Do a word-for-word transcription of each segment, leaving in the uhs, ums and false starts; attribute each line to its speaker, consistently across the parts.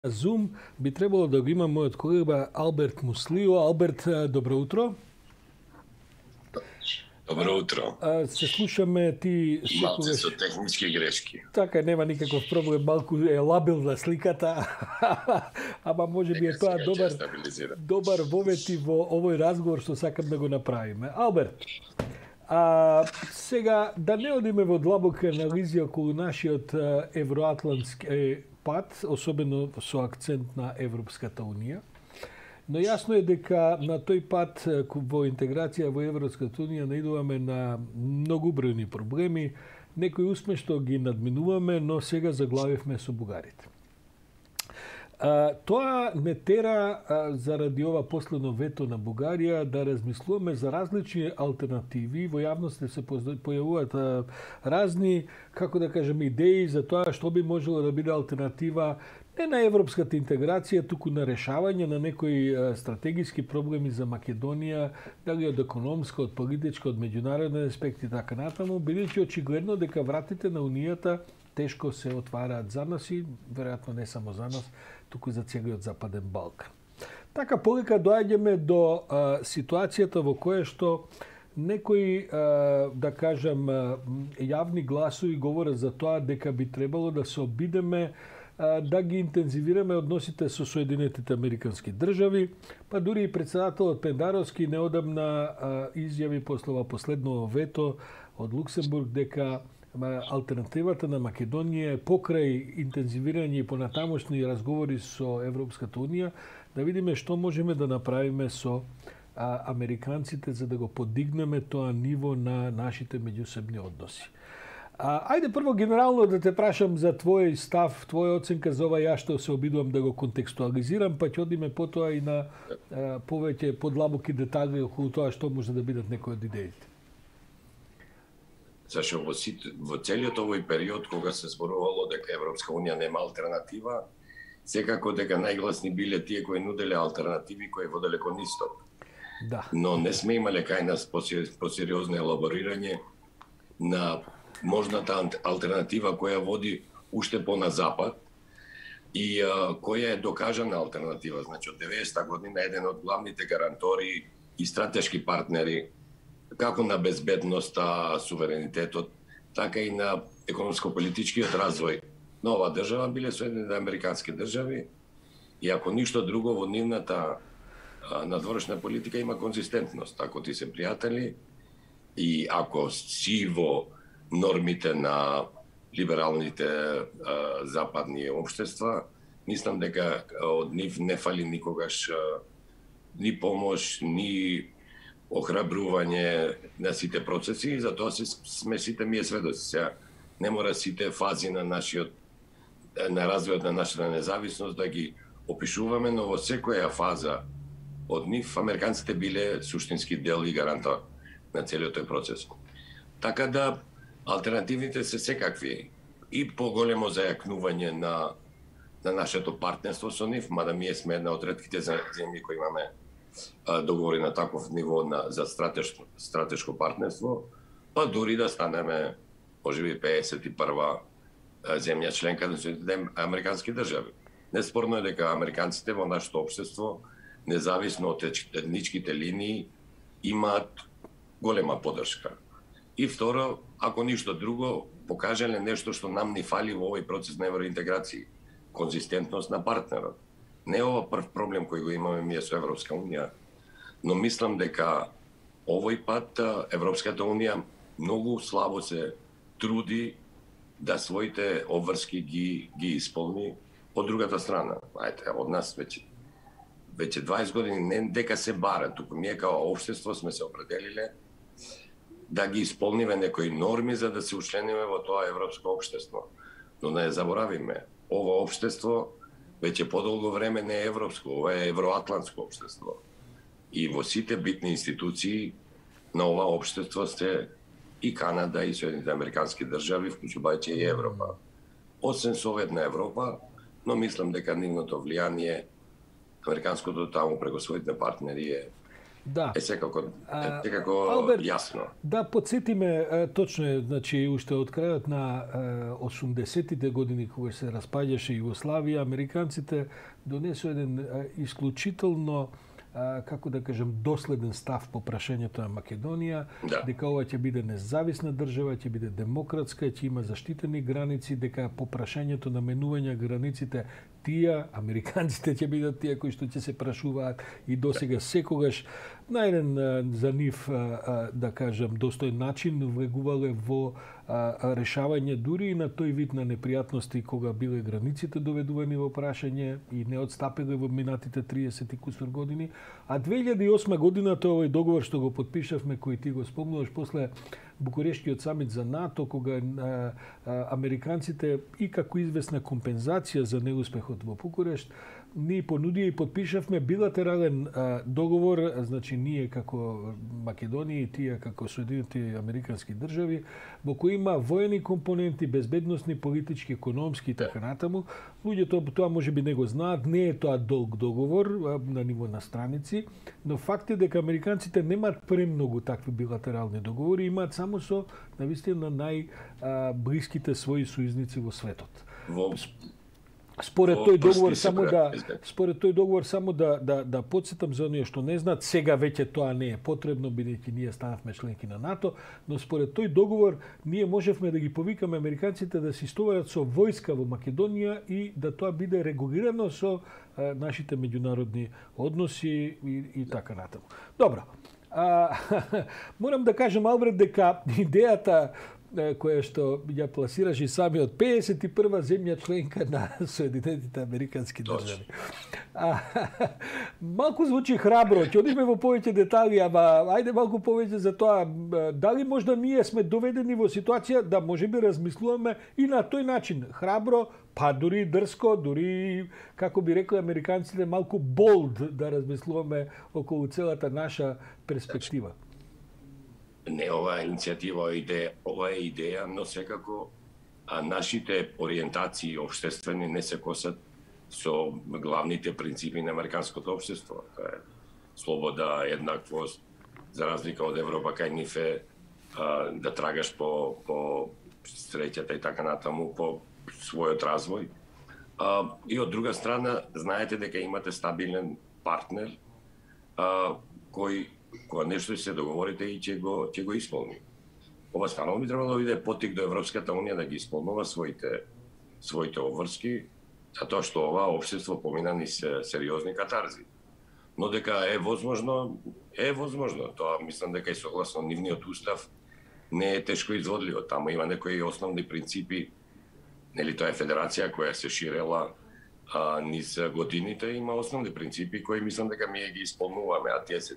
Speaker 1: Zoom би требало да го има мојот колега Алберт Муслио. Алберт, добро утро.
Speaker 2: Добро утро.
Speaker 1: А, се слушаме ти
Speaker 2: Малце со технички грешки.
Speaker 1: Така, нема никаков проблем, малку е лабилна сликата. Ама може би е тоа добар добар вовети во овој разговор што сакам да го направиме. Алберт, а, сега да не одиме во длабока анализи околу нашиот евроатлантски пат, особено со акцент на Европската унија. Но јасно е дека на тој пат во интеграција во Европската унија наидуваме на многу бројни проблеми. Некои успешно ги надминуваме, но сега заглавивме со бугарите. А, тоа не тера а, заради ова последно вето на Бугарија да размислуваме за различни алтернативи. Во јавност се појавуваат а, разни, како да кажем, идеи за тоа што би можело да биде алтернатива не на европската интеграција, туку на решавање на некои а, стратегиски проблеми за Македонија, дали од економска, од политичка, од меѓународен аспект и така натаму, бидејќи очигледно дека вратите на Унијата тешко се отвараат за нас и веројатно не само за нас, туку за целиот Западен Балкан. Така полека доаѓаме до а, ситуацијата во која што некои, а, да кажам, а, јавни гласови говорат за тоа дека би требало да се обидеме а, да ги интензивираме односите со Соединетите Американски држави, па дури и председателот Пендаровски неодамна а, изјави после ова последно вето од Луксембург дека алтернативата на Македонија е покрај интензивирање и понатамошни разговори со Европската унија да видиме што можеме да направиме со а, американците за да го подигнеме тоа ниво на нашите меѓусебни односи. А, ајде прво генерално да те прашам за твој став, твоја оценка за ова, ја што се обидувам да го контекстуализирам, па ќе одиме потоа и на а, повеќе подлабоки детали околу тоа што може да бидат некои од идеите.
Speaker 2: Зашто во, во целиот овој период кога се зборувало дека Европска унија нема алтернатива, секако дека најгласни биле тие кои нуделе алтернативи кои воделе кон исток.
Speaker 1: Да.
Speaker 2: Но не сме имале кај нас посериозно елаборирање на можната алтернатива која води уште по на запад и а, која е докажана алтернатива. Значи од деветдесета година еден од главните гарантори и стратешки партнери како на безбедноста, суверенитетот, така и на економско-политичкиот развој на оваа држава биле Соединетите Американски држави и ако ништо друго во нивната надворешна политика има конзистентност. Ако ти се пријатели и ако си во нормите на либералните а, западни општества, мислам дека од нив не фали никогаш а, ни помош, ни охрабрување на сите процеси и затоа се сме сите ние сведоци. Сега не мора сите фази на нашиот на развојот на нашата независност да ги опишуваме, но во секоја фаза од нив американците биле суштински дел и гарантор на целиот тој процес. Така да алтернативите се секакви и поголемо зајакнување на на нашето партнерство со нив, мада ние сме една од ретките земји кои имаме договори на таков ниво на, за стратешко, стратешко партнерство, па дури да станеме, можеби, педесет и прва земја членка на Соединетите Американски држави. Неспорно е дека американците во нашето општество, независно од етничките линии, имаат голема поддршка. И второ, ако ништо друго, покажале нешто што нам ни фали во овој процес на евроинтеграција, конзистентност на партнерот. Не е ова прв проблем кој го имаме ние со Европска унија, но мислам дека овој пат Европската унија многу слабо се труди да своите обврски ги ги исполни од другата страна. Ајде, од нас веќе веќе дваесет години не дека се бара, туку ние као општество сме се определиле да ги исполниме некои норми за да се учлениме во тоа европско општество. Но не заборавиме, ова општество веќе подолго време не е европско, ова е евроатлантско општество. И во сите битни институции на ова општество сте и Канада и Соединетите Американски држави, вклучувајќи и Европа. Освен Советна Европа, но мислам дека нивното влијание, американското таму преку своите партнери е да. е секако, е секако
Speaker 1: Алберт,
Speaker 2: јасно.
Speaker 1: Да, подсетиме, точно е, значи, уште од крајот на осумдесеттите години, кога се распаѓаше Југославија, американците донесу еден исклучително, како да кажем, доследен став по прашањето на Македонија,
Speaker 2: да.
Speaker 1: дека ова ќе биде независна држава, ќе биде демократска, ќе има заштитени граници, дека по прашањето на менување границите тие, американците ќе бидат тие кои што ќе се прашуваат и досега секогаш на еден за нив, да кажем, достоен начин влегувале во решавање дури и на тој вид на непријатности кога биле границите доведувани во прашање и не отстапиле во минатите триесет и кусур години. А две илјади и осма година тој овој договор што го потпишавме, кој ти го спомнуваш после Букурешткиот самит за НАТО, кога а, а, американците и како известна компензација за неуспехот во Букурешт, ние понудија и подпишавме билатерален а, договор, значи ние како Македонија и тие како Соединените американски држави, во кој има воени компоненти, безбедносни, политички, економски и така натаму. Луѓето тоа можеби не го знаат, не е тоа долг договор а, на ниво на страници, но факт е дека американците немаат премногу такви билатерални договори, имаат само со навистина најблиските своји сојузници во светот.
Speaker 2: Во
Speaker 1: Според тој договор само да според тој договор само да да да потсетам за оние што не знаат, сега веќе тоа не е потребно бидејќи ние станавме членки на НАТО, но според тој договор ние можевме да ги повикаме американците да се истоварат со војска во Македонија и да тоа биде регулирано со а, нашите меѓународни односи и, и така натаму. Добро. А, морам да кажам, Алберт, дека идејата која што ја пласираш и самиот педесет и прва земја членка на Соединетите американски држави. А, малку звучи храбро, ќе одиме во повеќе детали, ама ајде малку повеќе за тоа. Дали можда ние сме доведени во ситуација да можеби размислуваме и на тој начин, храбро, па дури дрско, дури, како би рекли американците, малку болд да размислуваме околу целата наша перспектива?
Speaker 2: Не, ова е иницијатива, идеја, ова е идеја, но секако а нашите ориентации општествени не се косат со главните принципи на американското општество. Тоа е слобода, еднаквост, за разлика од Европа, кај нив е а, да трагаш по, по среќата и така натаму, по својот развој. А, и од друга страна, знаете дека имате стабилен партнер а, кој кога нешто се договорите и ќе го ќе го исполни. Ова станало би требало да биде поттик до Европската унија да ги исполнува своите своите обврски, затоа што ова општество помина низ сериозни катарзи. Но дека е возможно, е возможно. Тоа мислам дека и согласно нивниот устав не е тешко изводливо. Таму има некои основни принципи. Нели тоа е федерација која се ширела а, низ годините, има основни принципи кои мислам дека ние ги исполнуваме, а тие се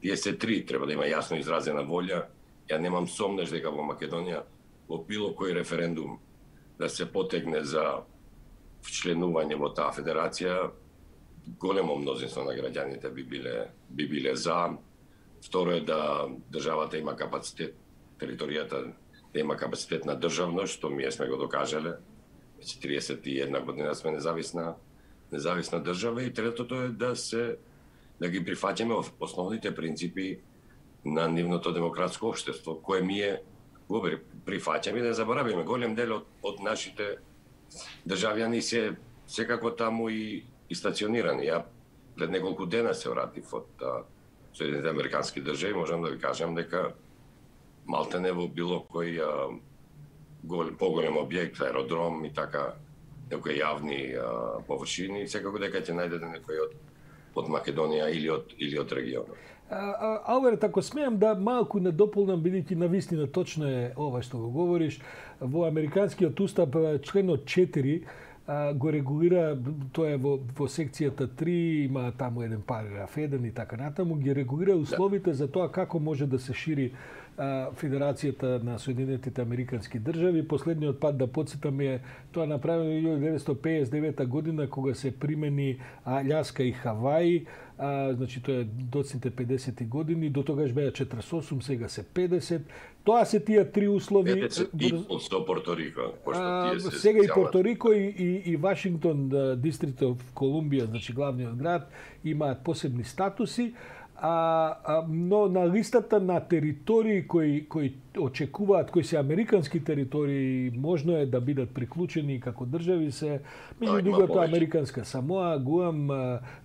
Speaker 2: Тие се три, треба да има јасно изразена волја. Ја немам сомнеш дека во Македонија во било кој референдум да се потегне за членување во таа федерација, големо мнозинство на граѓаните би биле би биле за. Второ е да државата има капацитет, територијата да има капацитет на државност, што ние сме го докажале. Веќе триесет и една година сме независна независна држава. И третото е да се да ги прифаќаме основните принципи на нивното демократско општество, кое ние го прифаќаме и да заборавиме. Голем дел од, од нашите државјани се секако таму и, и стационирани. Ја пред неколку дена се вратив од Соединените американски држави, можам да ви кажам дека малтене во било кој а, гол, поголем објект, аеродром и така, некои јавни а, површини, секако дека ќе најдете некој од од Македонија или од или од регионот.
Speaker 1: Алберт, ако смеам да малку не дополнам, бидејќи навистина точно е ова што го говориш, во американскиот устав членот четири а, го регулира, тоа е во, во секцијата три, има таму еден параграф еден и така натаму, ги регулира условите да. за тоа како може да се шири а, Федерацијата на Соединетите американски држави. Последниот пат да потсетам е тоа направено во илјадесетстотини деветдесет педесет и девета година кога се примени Аљаска и Хаваи. А, значи тоа е доцните педесети години, до тогаш беа четириесет и осум, сега се педесет. Тоа се тие три услови.
Speaker 2: педесет и со Порто Рико, пошто тие се
Speaker 1: сега и Порто Рико и, и, и Вашингтон, Дистрикт оф Колумбија, значи главниот град, имаат посебни статуси. А, а, но на листата на територии кои, кои очекуваат, кои се американски територии, можно е да бидат приклучени како држави се, меѓу другото Американска Самоа, Гуам,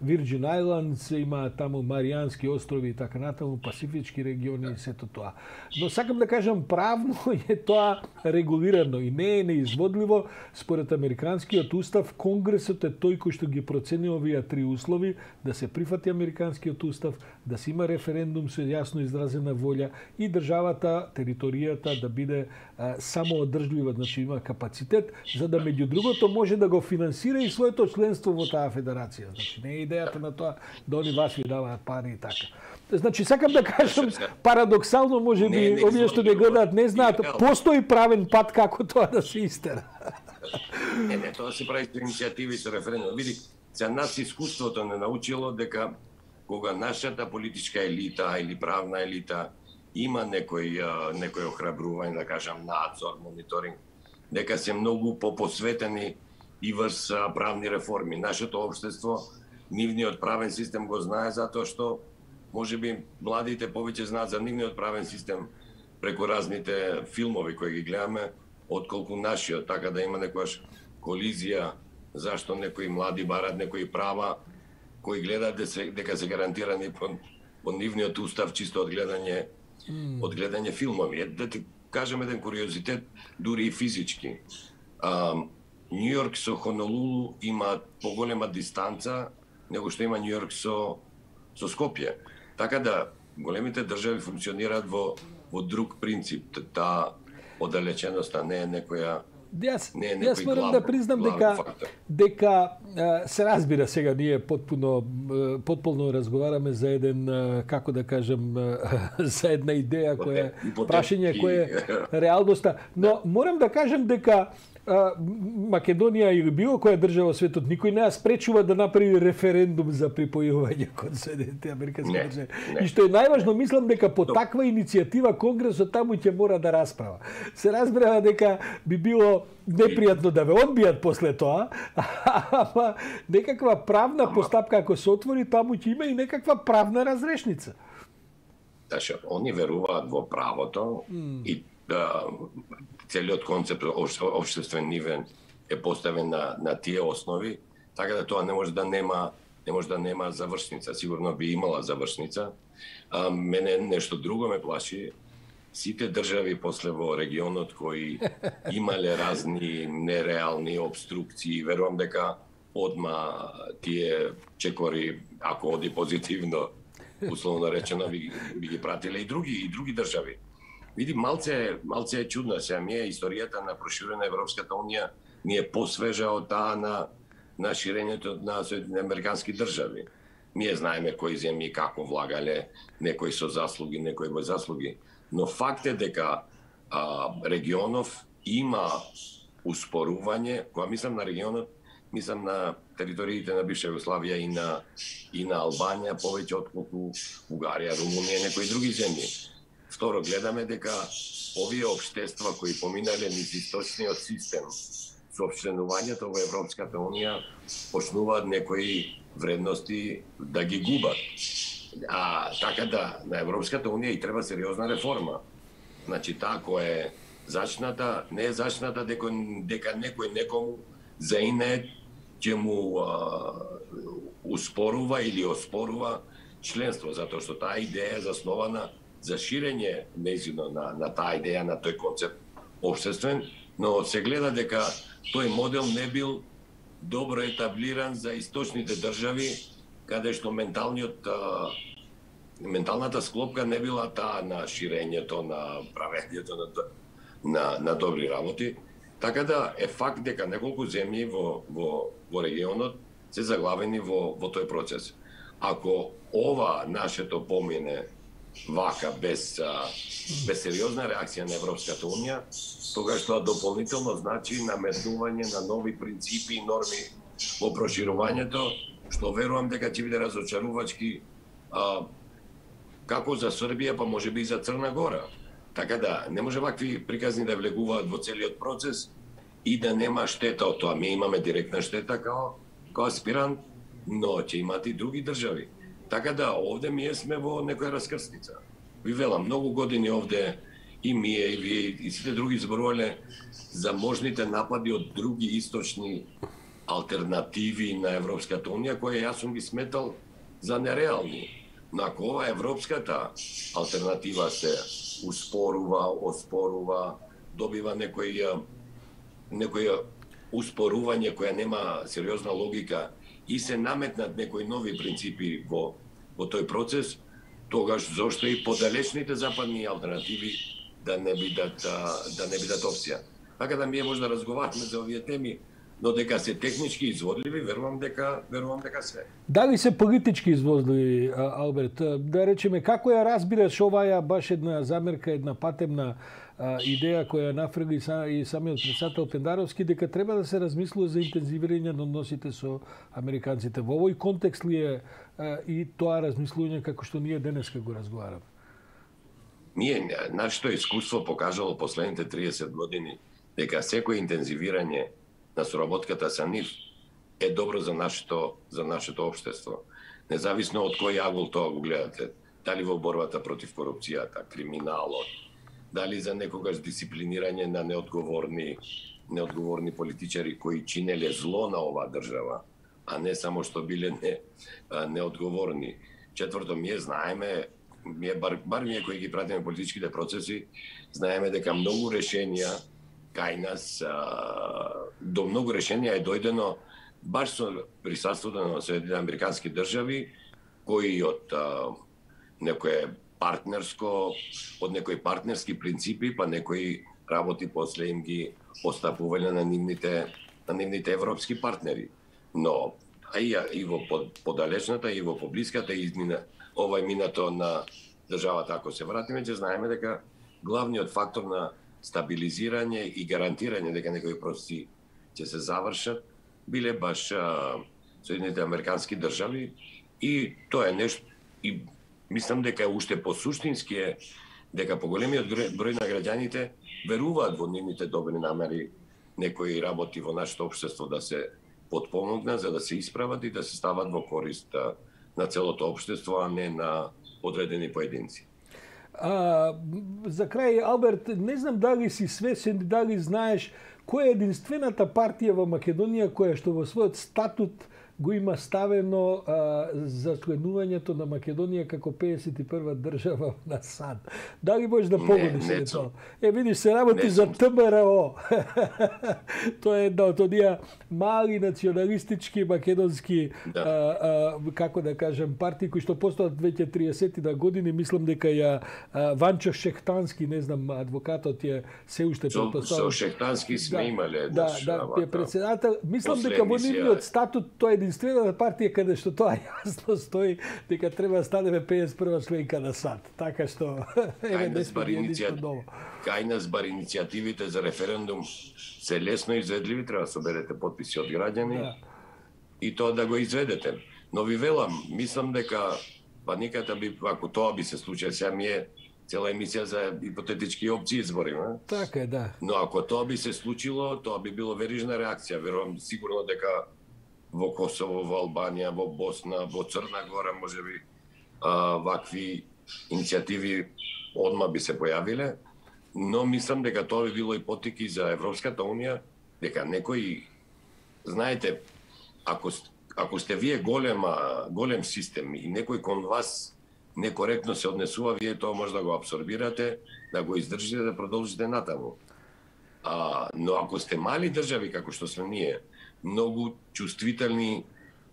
Speaker 1: Вирџин Ајландс, има таму Маријански острови и така натаму, Пасифички региони и сето тоа. Но сакам да кажам, правно е тоа регулирано и не е неизводливо. Според Американскиот устав, Конгресот е тој кој што ги процени овие три услови, да се прифати Американскиот устав, да се има референдум со јасно изразена волја и државата, територијата да биде а, самоодржлива, значи има капацитет, за да меѓу другото може да го финансира и своето членство во таа федерација. Значи не е идејата на тоа да они вас ви даваат пари и така. Значи сакам да кажам, парадоксално може би овие што не гледаат не знаат, постои правен пат како тоа да се истера.
Speaker 2: Не, не, тоа се прави со иницијативи со референдум. Види, за нас искуството не научило дека кога нашата политичка елита или правна елита има некој некој охрабрување, да кажам, надзор, мониторинг, дека се многу попосветени и врз правни реформи. Нашето општество, нивниот правен систем го знае затоа што можеби младите повеќе знаат за нивниот правен систем преку разните филмови кои ги гледаме, отколку нашиот, така да има некојаш колизија зашто некои млади барат некои права кои гледаат дека се гарантирани по, по нивниот устав чисто од гледање mm. од гледање филмови. Да ти кажам еден куриозитет, дури и физички. А, Њујорк со Хонолулу има поголема дистанца него што има Њујорк со со Скопје. Така да големите држави функционираат во во друг принцип. Таа оддалеченоста не е некоја
Speaker 1: Јас, јас морам да признам дека дека се разбира сега ние потпуно потполно разговараме за еден, како да кажам, за една идеја која прашање која е реалноста, но морам да кажам дека Македонија или било која држава во светот никој не ја спречува да направи референдум за припојување кон Соединетите Американски држави. И што е најважно, мислам дека по таква иницијатива Конгресот таму ќе мора да расправа. Се разбрава дека би било непријатно да ве одбијат после тоа, ама некаква правна постапка ако се отвори, таму ќе има и некаква правна разрешница.
Speaker 2: Значи, они веруваат во правото mm. и да, целиот концепт општествен нивен е поставен на, на тие основи, така да тоа не може да нема не може да нема завршница. Сигурно би имала завршница. А мене нешто друго ме плаши. Сите држави после во регионот кои имале разни нереални обструкции, верувам дека одма тие чекори, ако оди позитивно, условно речено, би, би ги пратиле и други и други држави. Види, малце, малце е чудна. Сега ми е историјата на проширење на Европската унија ни е посвежа од таа на, на ширењето на американски држави. Ние знаеме кои земји како влагале, некои со заслуги, некои без заслуги. Но факт е дека а, регионов има успорување, кога мислам на регионот, мислам на териториите на бивша Југославија и на, и на Албанија, повеќе отколку Бугарија, Румунија и некои други земји. Второ, гледаме дека овие општества кои поминале низ источниот систем со членувањето во Европската унија почнуваат некои вредности да ги губат. А така да на Европската унија и треба сериозна реформа. Значи таа која е зачната, не е зачната дека дека некој некому за ине ќе му а, успорува или оспорува членство, затоа што таа идеја е заснована за ширење нејзино на, на таа идеја, на тој концепт општествен, но се гледа дека тој модел не бил добро етаблиран за источните држави, каде што менталниот а, менталната склопка не била таа на ширењето, на правењето на, на, на добри работи. Така да е факт дека неколку земји во, во, во регионот се заглавени во, во тој процес. Ако ова нашето помине вака, без, без сериозна реакција на Европската унија, тогаш тоа дополнително значи наметнување на нови принципи и норми во проширувањето, што верувам дека ќе биде разочарувачки а, како за Србија, па може би и за Црна Гора. Така да, не може вакви приказни да влегуваат во целиот процес и да нема штета од тоа. Ми имаме директна штета као, као аспирант, но ќе имат и други држави. Така да, овде ние сме во некоја раскрсница. Ви велам, многу години овде и ние, и вие, и сите други зборувале за можните напади од други источни алтернативи на Европската Унија, кои јас сум ги сметал за нереални. Но ако ова европската алтернатива се успорува, оспорува, добива некој некој успорување која нема сериозна логика и се наметнат некои нови принципи во во тој процес, тогаш зошто и подалечните западни алтернативи да не бидат да не бидат опција. Така да ние може да разговараме за овие теми, но дека се технички изводливи, верувам дека верувам дека се.
Speaker 1: Дали се политички изводливи, Алберт? Да речеме, како ја разбираш оваа баш една замерка, една патемна а, идеја која нафрли и самиот председател Пендаровски, дека треба да се размислува за интензивирање на односите со американците. Во овој контекст ли е а, и тоа размислување како што ние денеска го разговараме?
Speaker 2: Ние, нашето искуство покажало последните триесет години дека секој интензивирање на соработката со нив е добро за нашето за нашето општество. Независно од кој агол тоа го гледате, дали во борбата против корупцијата, криминалот, дали за некогаш дисциплинирање на неодговорни неодговорни политичари кои чинеле зло на оваа држава, а не само што биле не неодговорни. Четврто, ние знаеме, ние бар, бар ние кои ги пратиме политичките процеси, знаеме дека многу решенија кај нас а, до многу решенија е дојдено баш со присуството на Соединените американски држави, кои од а, некое партнерско, од некои партнерски принципи, па некои работи после им ги остапувале на нивните на нивните европски партнери. Но а и, и во подалечната и во поблиската измина овај минато на државата, ако се вратиме, ќе знаеме дека главниот фактор на стабилизирање и гарантирање дека некои процеси ќе се завршат биле баш а, Соединените американски држави, и тоа е нешто, и мислам дека уште посуштински е дека поголемиот број на граѓаните веруваат во нивните добри намери некои работи во нашето општество да се потпомогнат, за да се исправат и да се стават во корист на целото општество, а не на одредени поединци.
Speaker 1: А, за крај, Алберт, не знам дали си свесен, дали знаеш која е единствената партија во Македонија која што во својот статут го има ставено а, за членувањето на Македонија како педесет и прва држава на САД. Дали можеш да погодиш за тоа? Е, видиш, се работи не за Т М Р О. Тоа е една од оние мали националистички македонски да. а, а, како да кажем партии кои што постојат веќе триесет години. Мислам дека ја а, Ванчо Шехтански, не знам, адвокатот е се уште
Speaker 2: претпоставен. Со Шехтански сме да, имале
Speaker 1: да, да, да, председател. Мислам дека во нивниот статут тоа е единствената партија каде што тоа јасно стои дека треба да станеме педесет и прва членка на САД. Така што еве не сме единствено.
Speaker 2: Кај нас бар иницијативите за референдум се лесно изведливи, треба да соберете потписи од граѓани да. И тоа да го изведете. Но ви велам, мислам дека па никата би, ако тоа би се случило, сега ми е цела емисија за ипотетички опции збориме.
Speaker 1: Така е, да.
Speaker 2: Но ако тоа би се случило, тоа би било верижна реакција. Верувам сигурно дека во Косово, во Албанија, во Босна, во Црна Гора, можеби а, вакви иницијативи одма би се појавиле, но мислам дека тоа би било и потик и за Европската Унија, дека некои, знаете, ако ако сте вие голема голем систем и некој кон вас некоректно се однесува, вие тоа може да го абсорбирате, да го издржите, да продолжите натаму. А, но ако сте мали држави како што сме ние, многу чувствителни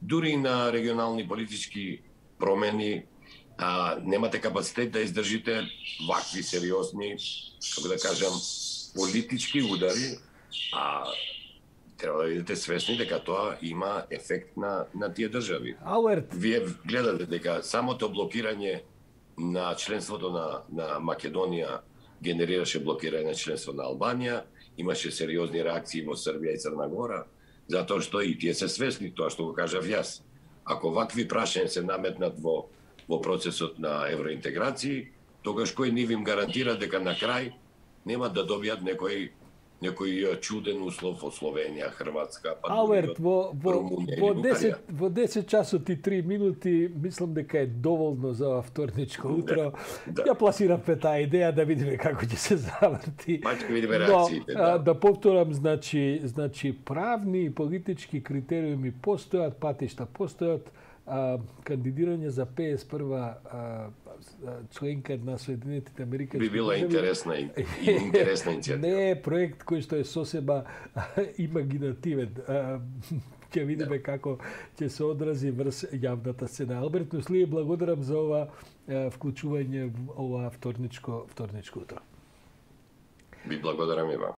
Speaker 2: дури на регионални политички промени, а, немате капацитет да издржите вакви сериозни, како да кажам, политички удари, а треба да бидете свесни дека тоа има ефект на на тие држави.
Speaker 1: Алберт,
Speaker 2: вие гледате дека самото блокирање на членството на на Македонија генерираше блокирање на членство на Албанија, имаше сериозни реакции во Србија и Црна Гора, затоа што и тие се свесни тоа што го кажав јас. Ако вакви прашања се наметнат во во процесот на евроинтеграции, тогаш кој нив им гарантира дека на крај нема да добијат некој некој чуден услов од Словенија, Хрватска, па
Speaker 1: Алберт, во, во,
Speaker 2: Румунија
Speaker 1: во,
Speaker 2: или
Speaker 1: десет, во десет часот и три минути, мислам дека е доволно за вторничко утро.
Speaker 2: Да, да.
Speaker 1: Ја пласирам пе таа идеја да видиме како ќе се заврти.
Speaker 2: Па ќе видиме реакциите,
Speaker 1: Но,
Speaker 2: да.
Speaker 1: а, да повторам, значи, значи правни и политички критериуми постојат, патишта постојат, а, кандидирање за петдесет и прва а, членка на Соединетите Американски
Speaker 2: Би била
Speaker 1: држави
Speaker 2: интересна и, и интересна иницијатива.
Speaker 1: Не е проект кој што е сосема имагинативен. А, ќе видиме како ќе се одрази врз јавната сцена. Алберт Нуслиев, благодарам за ова а, вклучување во ова вторничко вторничко утро.
Speaker 2: Би благодарам и вам.